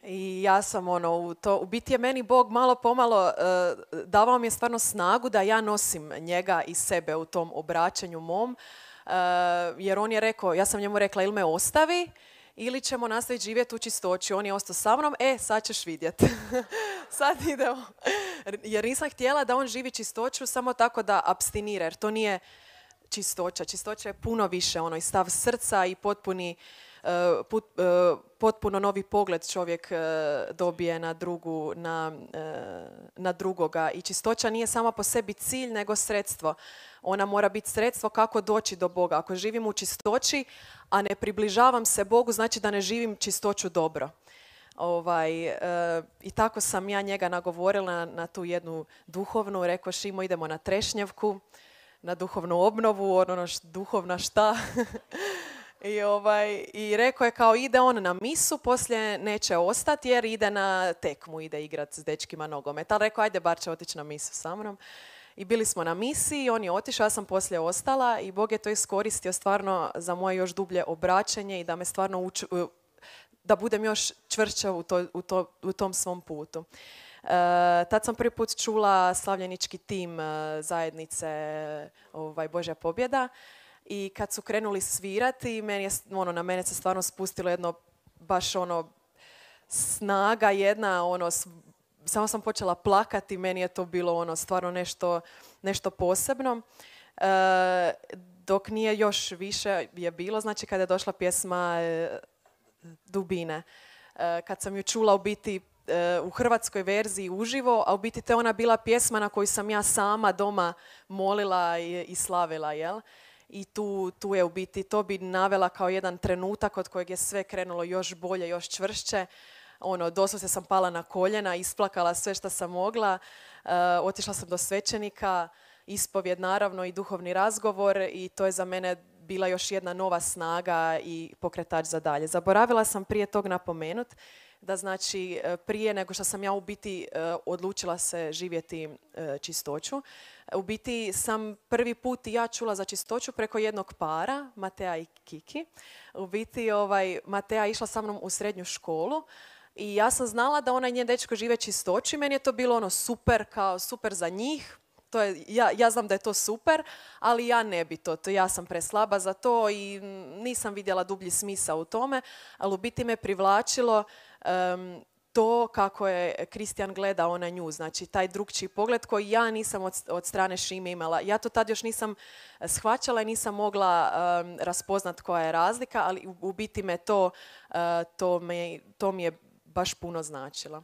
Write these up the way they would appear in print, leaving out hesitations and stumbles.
I ja sam u biti je meni Bog malo pomalo davao mi je stvarno snagu da ja nosim njega i sebe u tom obraćanju mom, jer on je rekao, ja sam njemu rekla ili me ostavi ili ćemo nastaviti živjeti u čistoći. On je ostao sa mnom, sad ćeš vidjeti. Sad idemo. Jer nisam htjela da on živi čistoću samo tako da apstinira, jer to nije čistoća. Čistoća je puno više, i stav srca i potpuno novi pogled čovjek dobije na drugoga. I čistoća nije sama po sebi cilj, nego sredstvo. Ona mora biti sredstvo kako doći do Boga. Ako živim u čistoći, a ne približavam se Bogu, znači da ne živim čistoću dobro. I tako sam ja njega nagovorila na tu jednu duhovnu. Rekao, Šimo, idemo na Trešnjevku, na duhovnu obnovu, duhovna šta. I rekao je kao ide on na misu, poslije neće ostati jer ide na tekmu, ide igrat s dečkima nogomet. Ali rekao, ajde, bar će otići na misu sa mnom. I bili smo na misiji, on je otišao, ja sam poslije ostala i Bog je to iskoristio stvarno za moje još dublje obraćanje i da me stvarno da budem još čvršća u tom svom putu. Tad sam prvi put čula slavljenički tim zajednice Božja pobjeda. I kad su krenuli svirati, na mene se stvarno spustilo jedno, baš snaga jedna, samo sam počela plakati, meni je to bilo stvarno nešto posebno. Dok nije još više je bilo, znači kada je došla pjesma Dubine. Kad sam ju čula u biti u hrvatskoj verziji uživo, a u biti te ona bila pjesma na koju sam ja sama doma molila i slavila, jel? I tu je u biti, to bi navela kao jedan trenutak od kojeg je sve krenulo još bolje, još čvršće. Doslovce sam pala na koljena, isplakala sve što sam mogla. Otišla sam do svećenika, ispovjed naravno i duhovni razgovor i to je za mene bila još jedna nova snaga i pokretač za dalje. Zaboravila sam prije tog napomenut da znači prije nego što sam ja u biti odlučila se živjeti čistoću, u biti sam prvi put i ja čula za čistoću preko jednog para, Matea i Kiki. U biti Matea išla sa mnom u srednju školu i ja sam znala da ona i njen dečko žive čistoću i meni je to bilo super, kao super za njih. To je, ja znam da je to super, ali ja ne bi to. Ja sam preslaba za to i nisam vidjela dublji smisao u tome, ali u biti me privlačilo to kako je Kristijan gledao na nju, znači taj drugčiji pogled koji ja nisam od strane Šime imala. Ja to tad još nisam shvaćala i nisam mogla raspoznat koja je razlika, ali u biti me to mi je baš puno značilo.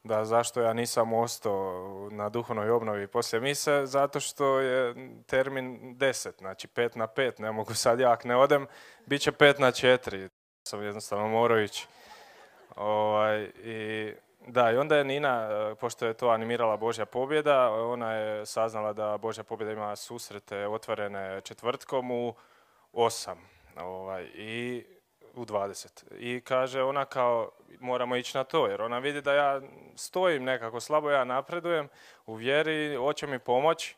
Da, zašto ja nisam ostao na duhovnoj obnovi poslije mise? Zato što je termin 10, znači 5 na 5. Ne mogu sad ja, ako ne odem, bit će 5 na 4. Sam jednostavno morao ići. I onda je Nina, pošto je to animirala Božja pobjeda, ona je saznala da Božja pobjeda ima susrete otvorene četvrtkom u 8 i u 20. I kaže ona kao, moramo ići na to, jer ona vidi da ja stojim nekako slabo, ja napredujem u vjeri, hoće mi pomoć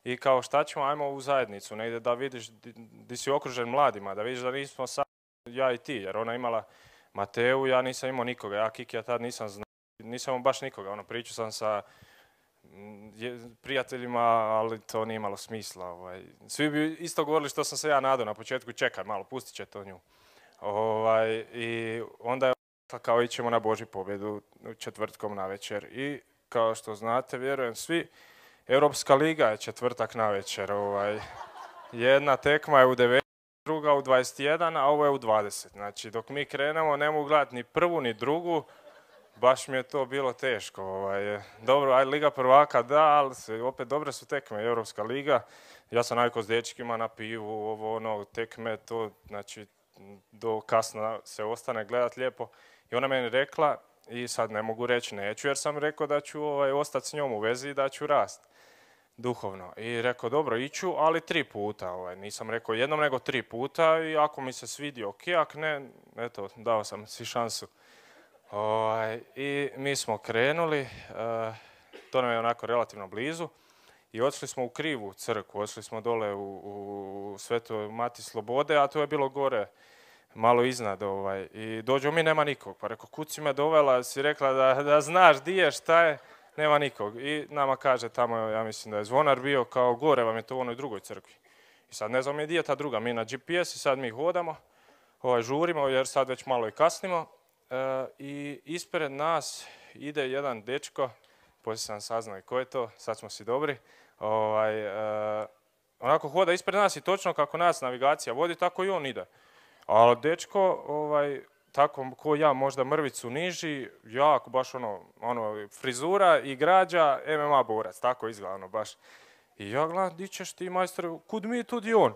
i kao šta ćemo, ajmo u zajednicu, negdje da vidiš di si okružen mladima, da vidiš da nismo samo ja i ti, jer ona imala Mateu, ja nisam imao nikoga, ja Kikija tad nisam znao, nisam imao baš nikoga, pričao sam sa prijateljima, ali to nije imalo smisla. Svi bi isto govorili što sam se ja nadao na početku, čekaj malo, pustit će to nju. I onda je kao ićemo na Božju pobjedu četvrtkom navečer. I kao što znate, vjerujem svi, Europska liga je četvrtak navečer. Jedna tekma je u 19, druga u 21, a ovo je u 20. Znači, dok mi krenemo, ne mogu gledati ni prvu, ni drugu. Baš mi je to bilo teško. Dobro, aj Liga prvaka, da, ali opet dobre su tekme, Europska liga. Ja sam navikao s dečkima na pivu, tekme, to, znači, do kasno se ostane gledat lijepo. I ona meni rekla, i sad ne mogu reći neću, jer sam rekao da ću ostati s njom u vezi i da ću rast duhovno. I rekao, dobro, iću, ali 3 puta. Nisam rekao jednom, nego 3 puta i ako mi se svidi, ok, ako ne, eto, dao sam si šansu. I mi smo krenuli, to nam je onako relativno blizu, i otišli smo u krivu crkvu, otišli smo dole u Svetoj Mati Slobode, a to je bilo gore malo iznad, i dođemo mi, nema nikog. Pa rekao, kud si me dovela, si rekla da znaš di je, šta je, nema nikog. I nama kaže tamo, ja mislim da je zvonar bio, kao gore vam je to u onoj drugoj crkvi. I sad ne znam gdje je ta druga, mi na GPS i sad mi hodamo, žurimo jer sad već malo i kasnimo. I ispred nas ide jedan dečko, poslije sam saznao i ko je to, sad smo si dobri, onako hoda ispred nas i točno kako nas navigacija vodi, tako i on ide. Ali dečko, tako ko ja, možda mrvicu niži, jako baš ono frizura i građa, MMA borac, tako izgleda baš. I ja gledam, di ćeš ti majstore, kud mi, tud i on.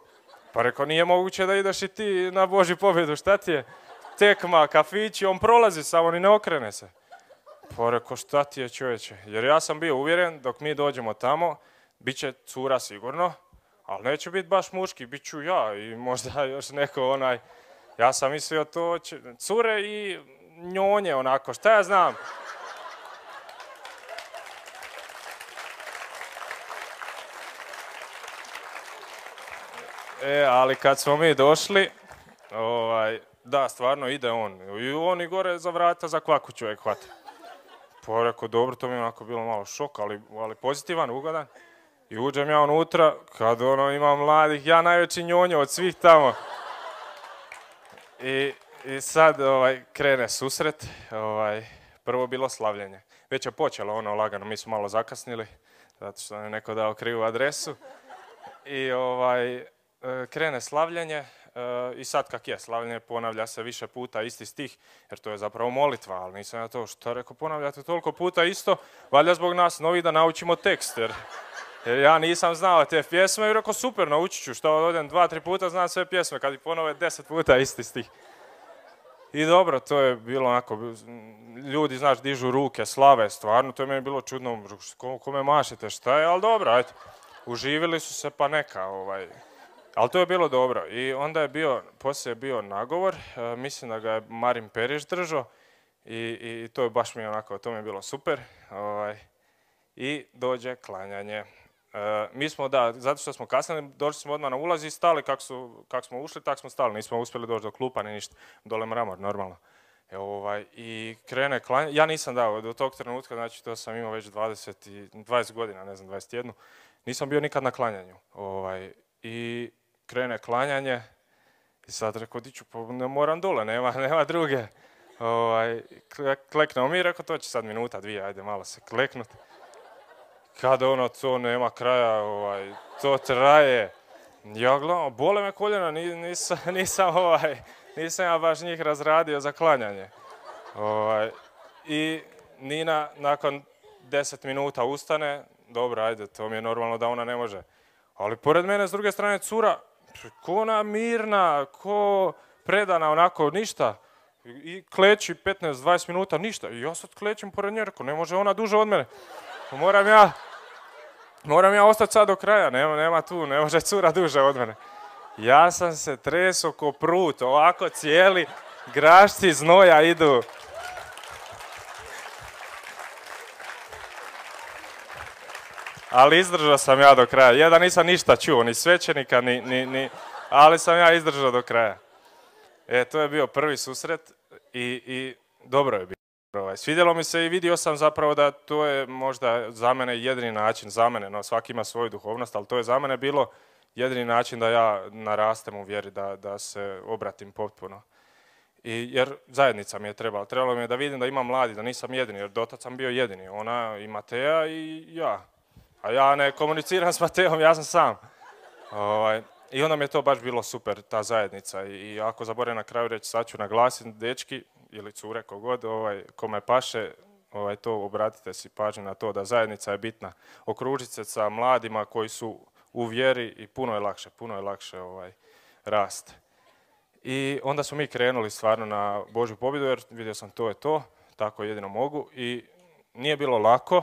Pa rekao, nije moguće da ideš i ti na Božju pobjedu, šta ti je? Tekma, kafići, on prolazi samo, ni ne okrene se. Pa rekao, šta ti je, čovječe? Jer ja sam bio uvjeren, dok mi dođemo tamo, bit će cura sigurno, ali neće biti baš muški, bit ću ja i možda još neko ja sam mislio to, cure i njonje onako, šta ja znam. Ali kad smo mi došli, da, stvarno ide on. I on i gore za vrata za kvaku čovjek hvata. Pa rekao, dobro, to mi je onako bilo malo šok, ali pozitivan, ugodan. I uđem ja unutra, kad ima mladih, ja najveći njonjo od svih tamo. I sad krene susret, prvo bilo slavljenje. Već je počelo lagano, mi smo malo zakasnili, zato što je neko dao krivu adresu. I krene slavljenje i sad kak je slavljenje, ponavlja se više puta isti stih, jer to je zapravo molitva, ali nisam ja to što rekao, ponavljate toliko puta isto, valjda zbog nas novi da naučimo tekst, jer ja nisam znao te pjesme i rekao super, naučit ću, što odem 2-3 puta znam sve pjesme, kad ih ponove 10 puta isti stih. I dobro, to je bilo onako, ljudi, znaš, dižu ruke, slave, stvarno, to je meni bilo čudno, kome mašete, šta je, ali dobro, ajde. Uživili su se, pa neka, ali to je bilo dobro. I onda je poslije je bio nagovor, mislim da ga je Marin Periš držao i to je baš mi onako, to mi je bilo super. I dođe klanjanje. Mi smo, da, zato što smo kasnili, došli smo odmah na ulaz i stali, kako smo ušli, tako smo stali, nismo uspjeli doći do klupa ni ništa, dole mramor, normalno. I krene klanjanje, ja nisam dao do tog trenutka, znači to sam imao već 20 godina, ne znam, 21. Nisam bio nikad na klanjanju. I krene klanjanje i sad rekao, diću, pa ne moram dole, nema druge. Kleknemo mi, rekao, to će sad minuta, 2, ajde malo se kleknut. Kad to nema kraja, to traje. Ja gledam, bole me koljena, nisam ja baš njih razradio za klanjanje. I Nina nakon 10 minuta ustane, dobro, ajde, to mi je normalno da ona ne može. Ali pored mene s druge strane cura, ko ona mirna, ko predana, onako, ništa. I kleči 15-20 minuta, ništa. I ja sad klečim pored nje, rekao, ne može ona duže od mene. Moram ja ostati sad do kraja, nema tu, ne može cura duže od mene. Ja sam se tresao ko prut, ovako cijeli grašci znoja idu. Ali izdržao sam ja do kraja. Ja da nisam ništa čuo, ni svećenika, ali sam ja izdržao do kraja. To je bio prvi susret i dobro je bilo. Svidjelo mi se i vidio sam zapravo da to je možda za mene jedini način, no svaki ima svoju duhovnost, ali to je za mene bilo jedini način da ja narastem u vjeri, da se obratim potpuno. Jer zajednica mi je trebalo mi je da vidim da imam mladi, da nisam jedini, jer dotad sam bio jedini. Ona i Mateja i ja. A ja ne komuniciram s Mateom, ja sam sam. I onda mi je to baš bilo super, ta zajednica. I ako zaboravim na kraju reći, sad ću naglasiti, dečki ili cure, kogod, kome paše, to obratite si pažnju na to da zajednica je bitna. Okružiti se sa mladima koji su u vjeri i puno je lakše rast. I onda smo mi krenuli stvarno na Božju pobjedu, jer vidio sam to je to, tako jedino mogu. I nije bilo lako,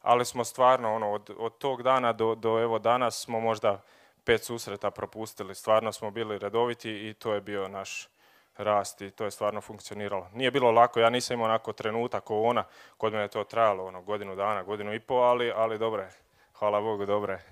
ali smo stvarno od tog dana do evo danas smo možda 5 susreta propustili. Stvarno smo bili redoviti i to je bio naš rast i to je stvarno funkcioniralo. Nije bilo lako, ja nisam imao onako trenutak kao ona, kod mene je to trajalo godinu dana, godinu i pol, ali dobro je. Hvala Bogu, dobro je.